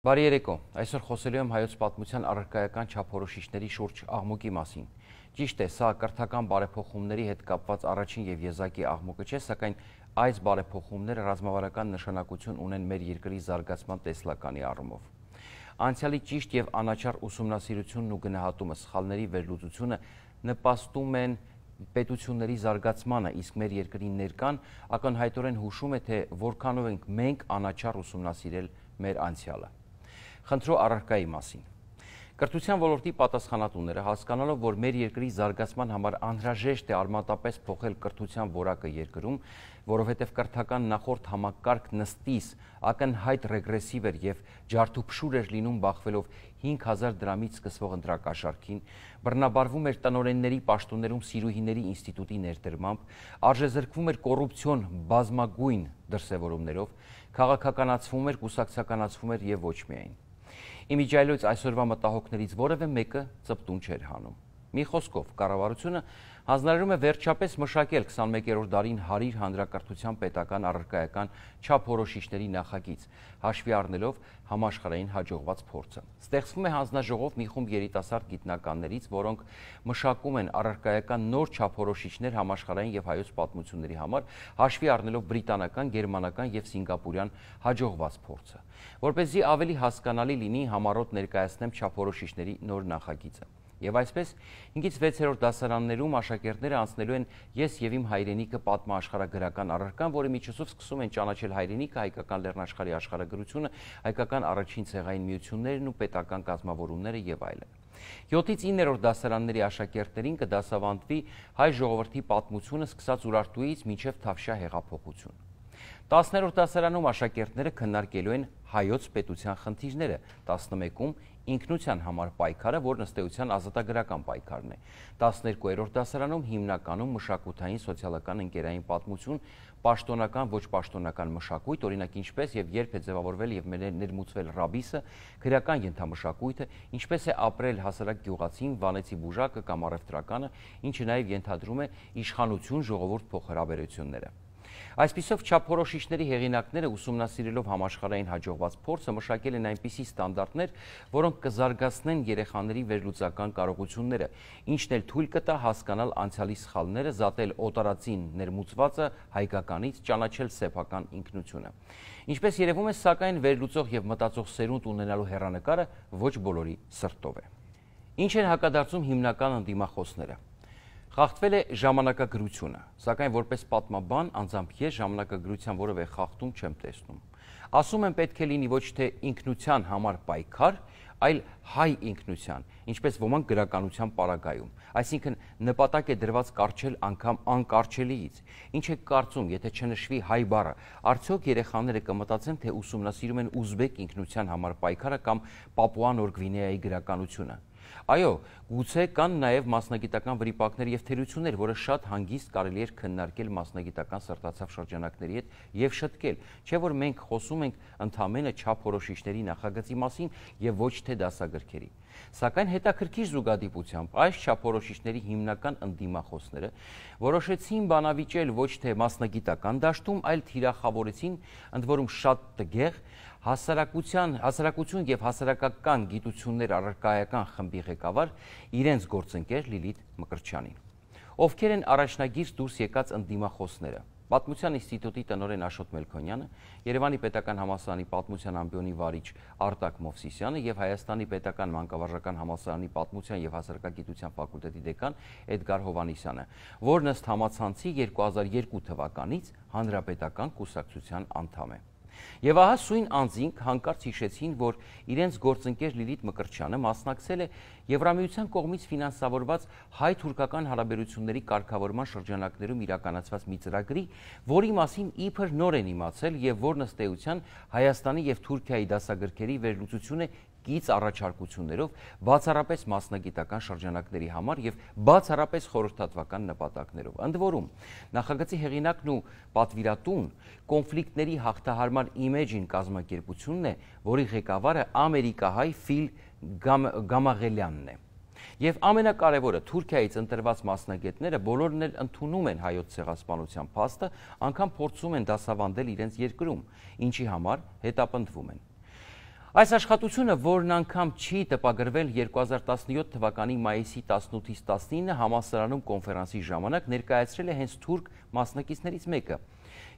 Բարի երեկո, այսօր խոսելու եմ հայոց պատմության առարկայական չափորոշիչների շուրջ աղմուկի մասին։ Ճիշտ է, սա կրթական բարեփոխումների հետ կապված առաջին եւ եզակի աղմուկը չէ, սակայն այս բարեփոխումները ռազմավարական նշանակություն ունեն մեր երկրի զարգացման տեսլականի առումով։ Անցյալի ճիշտ եւ անաչառ ուսումնասիրությունն ու գնահատումը, սխալների վերլուծությունը նպաստում են պետությունների զարգացմանը, իսկ մեր երկրի ներկան ակնհայտորեն հուշում է, թե որքանով ենք մենք անաչառ ուսումնասիրել մեր անցյալը։ Խնդրո առարկայի մասին։ Կրթության ոլորտի պատասխանատուները հասկանալով, որ մեր երկրի զարգացման համար անհրաժեշտ է արմատապես փոխել կրթության որակը երկրում, որովհետև կրթական նախորդ համակարգ նստիս ակնհայտ ռեգրեսիվ էր եւ ջարդուփշուր էր լինում բախվելով 5000 դրամից սկսվող ընտրակաշառքին, բռնաբարվում էր տնօրենների պաշտոններում սիրուհիների ինստիտուտի ներդրմամբ, արժեզրկվում էր կոռուպցիոն բազմագույն դրսևորումներով, քաղաքականացվում էր, կուսակցականացվում էր եւ ոչ միայն։ Իմիջիայլոց այսօրվա մտահոգներից որևէ մեկը ծպտուն չէր հանում։ Մի խոսքով, կառավարությունը հանձնարարում է վերջապես մշակել 21-րդ դարին հարիր հանրակրթության պետական առարկայական չափորոշիչների նախագիծ, հաշվի առնելով համաշխարհային հաջողված փորձը։ Ստեղծվում է հանձնաժողով մի խումբ երիտասարդ գիտնականներից, որոնք մշակում են առարկայական նոր չափորոշիչներ համաշխարհային եւ հայոց պատմությունների համար, հաշվի առնելով բրիտանական, գերմանական եւ սինգապուրյան հաջողված փորձը, որպեսզի ավելի հասկանալի լինի համառոտ ներկայացնեմ չափորոշիչների նոր նախագիծը։ Եվ այսպես 5-ից 6-րդ դասարաններում աշակերտները անցնելու են «Ես եւ իմ հայրենիքը» պատմաաշխարհագրական առարկան, որի միջոցով սկսում են ճանաչել հայրենիքը, հայկական լեռնաշխարհի աշխարհագրությունը, հայկական առաջին ցեղային միություններն ու պետական կազմավորումները եւ այլն։ 7-ից 9-րդ դասարանների աշակերտներին կդասավանդվի հայ ժողովրդի պատմությունը սկսած Ուրարտուից մինչև Թավշյա հեղափոխություն։ 10-րդ դասարանում աշակերտները քննարկելու են հայոց պետության խնդիրները, 11-ում ինքնության համար պայքարը, որն ըստ էության ազատագրական պայքարն է։ 12-րդ դասարանում հիմնականում մշակութային, սոցիալական, ընկերային պատմություն, պաշտոնական, ոչ պաշտոնական մշակույթ, օրինակ ինչպես եւ երբ է ձևավորվել եւ ներմուծվել ռաբիսը, քրեական ենթամշակույթը, ինչպես է ապրել հասարակ գյուղացին, վանեցի բուժակը կամ առևտրականը, ինչը նաեւ ենթադրում է իշխանություն ժողովուրդ փոխհարաբերությունները։ Այսպիսով չափորոշիչների հեղինակները ուսումնասիրելով համաշխարհային հաջողված փորձը մշակել են այնպիսի ստանդարտներ, որոնք կզարգացնեն երեխաների վերլուծական կարողությունները, ինչն էլ թույլ կտա հասկանալ անցյալի սխալները, զատել օտարածին ներմուծվածը հայկականից, ճանաչել սեփական ինքնությունը։ Ինչպես երևում է, սակայն վերլուծող եւ մտածող սերունդ ունենալու հեռանկարը ոչ բոլորի սրտով է։ Ինչ են հակադարձում հիմնական ընդդիմախոսները։ Խախտվել է ժամանակագրությունը, սակայն որպես պատմաբան անձամբ ես ժամանակագրության որևէ խախտում չեմ տեսնում։ Ասում եմ պետք է լինի ոչ թե ինքնության համար պայքար, այլ հայ ինքնության, ինչպես ոմանք գրականության պարագայում, այսինքն նպատակ է դրված կառչել անգամ անկառչելիից։ Ինչ եք կարծում, եթե չնշվի հայ բառը, արդյոք երեխաները կմտածեն, թե ուսումնասիրում են ուզբեկ ինքնության համար պայքարը կամ Պապուա Նոր Գվինեայի գրականությունը։ Այո, գուցե կան նաև մասնագիտական վրիպակներ եւ թերություններ, որը շատ հանգիստ կարելի էր քննարկել մասնագիտական սրտացավ շրջանակների հետ եւ շտկել, չէ՞ որ մենք խոսում ենք ընդամենը չափորոշիչների նախագծի մասին եւ ոչ թե դասագրքերի։ Սակայն հետաքրքիր զուգադիպությամբ այս չափորոշիչների հիմնական ընդդիմախոսները որոշեցին բանավիճել ոչ թե մասնագիտական դաշտում, այլ թիրախավորեցին, ընդ որում շատ տգեղ, հասարակություն եւ հասարակական գիտություններ առարկայական խմբի ղեկավար իրենց գործընկեր Լիլիթ Մկրտչյանին։ Ովքեր են առաջնագիր դուրս եկած ընդդիմախոսները։ Պատմության ինստիտուտի տնօրեն Աշոտ Մելքոնյանը, Երևանի պետական համալսարանի պատմության ամբիոնի վարիչ Արտակ Մովսիսյանը եւ Հայաստանի պետական մանկավարժական համալսարանի պատմության եւ հասարակագիտության ֆակուլտետի դեկան Էդգար Հովհաննիսյանը, որն ըստ համացանցի 2002 թվականից հանրապետական կուսակցության անդամ է։ Եվ ահա սույն անձինք հանկարծ հիշեցին, որ իրենց գործընկեր Լիլիթ Մկրտչյանը մասնակցել է Եվրամիության կողմից ֆինանսավորված հայ-թուրքական հարաբերությունների կարգավորման շրջանակներում իրականացված մի ծրագրի, որի մասին իբր նոր են իմացել եւ որն ըստ էության Հայաստանի եւ Թուրքիայի դասագրքերի վերլուծություն է կից առաջարկություններով, բացառապես մասնագիտական շրջանակների համար եւ բացառապես խորհրդատվական նպատակներով։ Ընդ որում, նախագծի հեղինակն ու պատվիրատուն կոնֆլիկտների հաղթահարման Imagine կազմակերպությունն է, որի ղեկավարը ամերիկահայ Ֆիլ Գամաղելյանն է։ Եվ ամենակարևորը, Թուրքիայից ընտրված մասնագետները բոլորն էլ ընդունում են հայոց ցեղասպանության փաստը, անգամ փորձում են դասավանդել իրենց երկրում, ինչի համար հետապնդվում են։ Այս աշխատությունը, որն անգամ չի տպագրվել 2017 թվականի մայիսի 18-ից 19 համալսարանում կոնֆերանսի ժամանակ, ներկայացրել է հենց թուրք մասնակիցներից մեկը։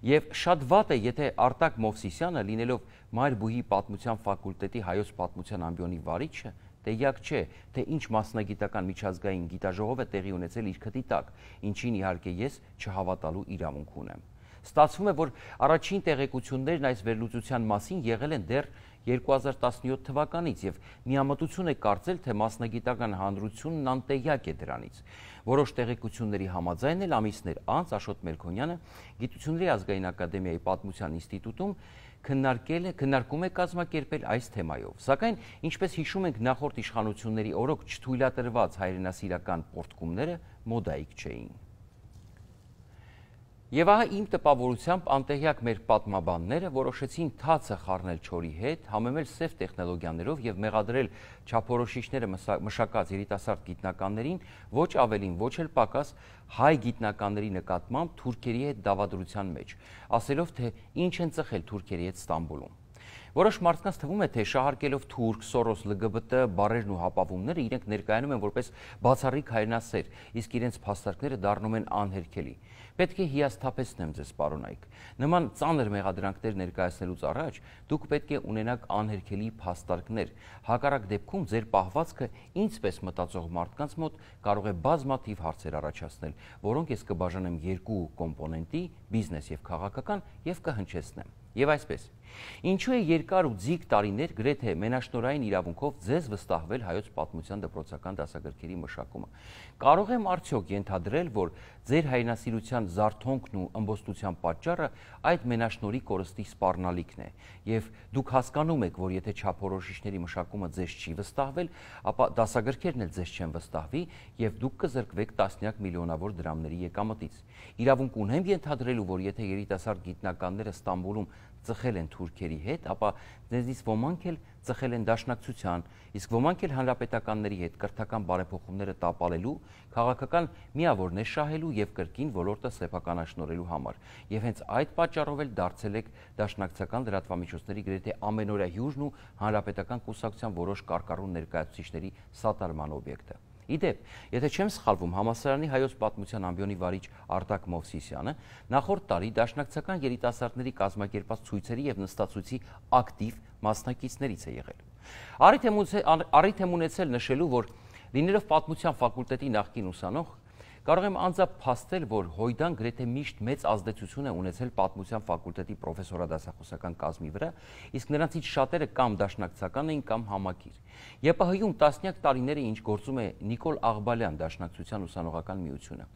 Եվ շատ վատ է, եթե Արտակ Մովսիսյանը, լինելով Մայրբույի պատմության ֆակուլտետի հայոց պատմության ամբիոնի վարիչը, տեղյակ չէ, թե ինչ մասնագիտական միջազգային գիտաժողով է տեղի ունեցել իր քթի տակ, ինչին իհարկե ես չհավատալու իրավունք ունեմ։ Ստացվում է, որ առաջին տեղեկություններն այս վերլուծության մասին եղել են դեռ 2017 թվականից և միամտություն է կարծել, թե մասնագիտական հանրությունն անտեղյակ է դրանից։ Որոշ տեղեկությունների համաձայն էլ ամիսներ անց Աշոտ Մելքոնյանը Գիտությունների ազգային ակադեմիայի պատմության ինստիտուտում քննարկում է կազմակերպել այս թեմայով։ Սակայն, ինչպես հիշում ենք, նախորդ իշխանությունների օրոք չթույլատրված հայրենասիրական պոռթկումները մոդայիկ չէին։ Եվ ահա իմ տպավորությամբ անտեղյակ մեր պատմաբանները որոշեցին թացը խառնել չորի հետ, համեմել սև տեխնոլոգիաներով և մեղադրել չափորոշիչները մշակած երիտասարդ գիտնականներին ոչ ավելին, ոչ էլ պակաս հայ գիտնականների նկատմամբ թուրքերի հետ դավադրության մեջ, ասելով, թե ինչ են ծխել թուրքերի հետ Ստամբուլում։ Որոշ մարդկանց թվում է, թե շահարկելով թուրք, Սորոս, ԼԳԲՏ բառերն ու հապավումները իրենք ներկայանում են որպես բացառիկ հայրենասեր, իսկ իրենց փաստարկները դառնում են անհերքելի։ Պետք է հիասթափեցնեմ ձեզ, պարոնայք։ Նման ծանր մեղադրանքներ ներկայացնելուց առաջ դուք պետք է ունենաք անհերքելի փաստարկներ։ Հակառակ դեպքում ձեր պահվածքը ինձպես մտածող մարդկանց մոտ կարող է բազմաթիվ հարցեր առաջացնել, որոնք ես կբաժանեմ երկու կոմպոնենտի՝ բիզնես և քաղաքական, և կհնչեցնեմ։ Եվ այսպես, ինչու է երկար ու ձիգ տարիներ գրեթե մենաշնորհային իրավունքով ձեզ վստահվել հայոց պատմության դպրոցական դասագրքերի մշակումը։ Կարող եմ արդյոք ենթադրել, որ ձեր հայրենասիրության զարթոնքն ու ըմբոստության պատճառը այդ մենաշնորհի կորստի սպառնալիքն է, եւ դուք հասկանում եք, որ եթե չափորոշիչների մշակումը ձեզ չի վստահվել, ապա դասագրքերն էլ ձեզ չեն վստահվի եւ դուք կզրկվեք տասնյակ միլիոնավոր դրամների եկամտից։ Իրավունք ունեմ ենթադրելու, որ եթե երիտասարդ գիտնականները Ստամբուլում ծխել են թուրքերի հետ, ապա դրանցից ոմանք էլ ծխել են դաշնակցության, իսկ ոմանք էլ հանրապետականների հետ կրթական բարեփոխումները տապալելու, քաղաքական միավորներ շահելու եւ կրկին ոլորտը սեփականաշնորհելու համար։ Եվ հենց այդ պատճառով էլ դարձել եք դաշնակցական լրատվամիջոցների գրեթե ամենօրյա հյուժն ու հանրապետական կուսակցության որոշ կարկառուն ներկայացուցիչների սատարման օբյեկտը։ Իդեպ, եթե չեմ սխալվում, համալսարանի հայոց պատմության ամբիոնի վարիչ Արտակ Մովսիսյանը նախորդ տարի դաշնակցական երիտասարդների կազմակերպած ցույցերի եւ նստացույցի ակտիվ մասնակիցներից է եղել։ Առիթ եմ ունեցել նշելու, որ լինելով պատմության ֆակուլտետի նախկին ուսանող, կարող եմ անձափաստել, որ Հոյդան գրեթե միշտ մեծ ազդեցություն է ունեցել պատմության ֆակուլտետի պրոֆեսորադասախոսական կազմի վրա, իսկ նրանցից շատերը կամ դաշնակցական էին, կամ համակիր։ ԵՊՀ-ում տասնյակ տարիներ է, ինչ գործում է Նիկոլ Աղբալյան դաշնակցության ուսանողական միությունը։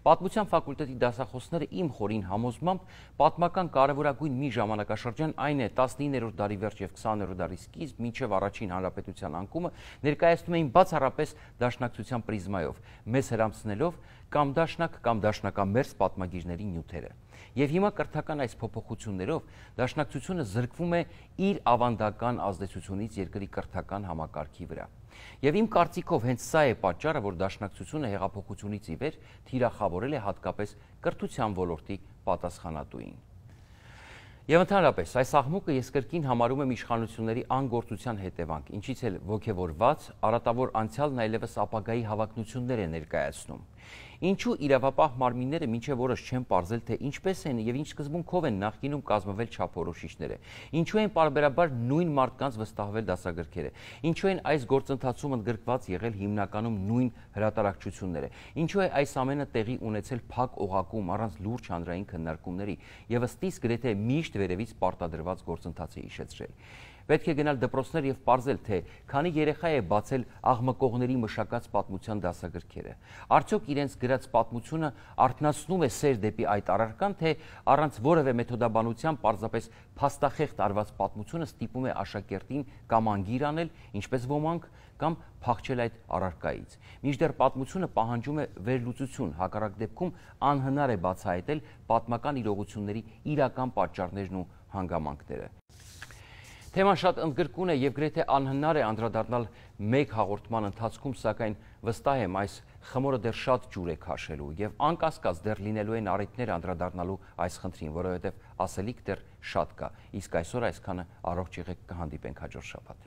Պատմության ֆակուլտետի դասախոսները իմ խորին համոզմամբ պատմական կարևորագույն մի ժամանակաշրջան, այն է 19-րդ դարի վերջ եւ 20-րդ դարի սկիզբ մինչեւ առաջին հանրապետության անկումը, ներկայացնում էին բացառապես դաշնակցության պրիզմայով, մեզ հրամցնելով կամ դաշնակ կամ դաշնակամերձ պատմագիրների նյութերը։ Եվ հիմա կրթական այս փոփոխություններով դաշնակցությունը զրկվում է իր ավանդական ազդեցությունից երկրի կրթական համակարգի վրա։ Եվ իմ կարծիքով հենց սա է պատճառը, որ դաշնակցությունը հեղափոխությունից ի վեր թիրախավորել է հատկապես կրթության ոլորտի պատասխանատուին։ Եվ ընդհանրապես, այս աղմուկը ես կրկին համարում եմ իշխանությունների անգործության հետևանք, ինչից էլ ոգևորված, արատավոր անցյալն այլևս ապագայի հավակնություններ է ներկայացնում։ Ինչու իրավապահ մարմինները մինչև օրս չեն պարզել, թե ինչպես են եւ ինչ սկզբունքով են նախկինում կազմվել չափորոշիչները, ինչու են պարբերաբար նույն մարդկանց վստահվել դասագրքերը, ինչու են այս գործընթացում ընդգրկված եղել հիմնականում նույն հրատարակչությունները, ինչու է այս ամենը տեղի ունեցել փակ օղակում առանց լուրջ հանրային քննարկումների եւ ըստիս գրեթե միշտ վերևից պարտադրված գործընթացը հիշեցրել։ Պետք է գնալ դպրոցներ եւ պարզել, թե քանի երեխա է բացել աղմկողների մշակած պատմության դասագրքերը։ Արդյոք իրենց գրած պատմությունը արթնացնում է սեր դեպի այդ առարկան, թե առանց որևէ մեթոդաբանության պարզապես փաստախեղդ արված պատմությունը ստիպում է աշակերտին կամ անգիր անել, ինչպես ոմանք, կամ փախչել այդ առարկայից։ Մինչդեռ պատմությունը պահանջում է վերլուծություն, հակառակ դեպքում անհնար է բացահայտել պատմական իրողությունների իրական պատճառներն ու հանգամանքները։ Թեման շատ ընդգրկուն է եւ գրեթե անհնար է անդրադառնալ մեկ հաղորդման ընթացքում, սակայն վստահ եմ այս խմորը դեռ շատ ջուր է քաշելու եւ անկասկած դեռ լինելու են առիթներ անդրադառնալու այս խնդրին, որովհետեւ ասելիք դեռ շատ կա։ Իսկ այսօր այսքանը, առողջ եղեք, կհանդիպենք հաջորդ շաբաթ։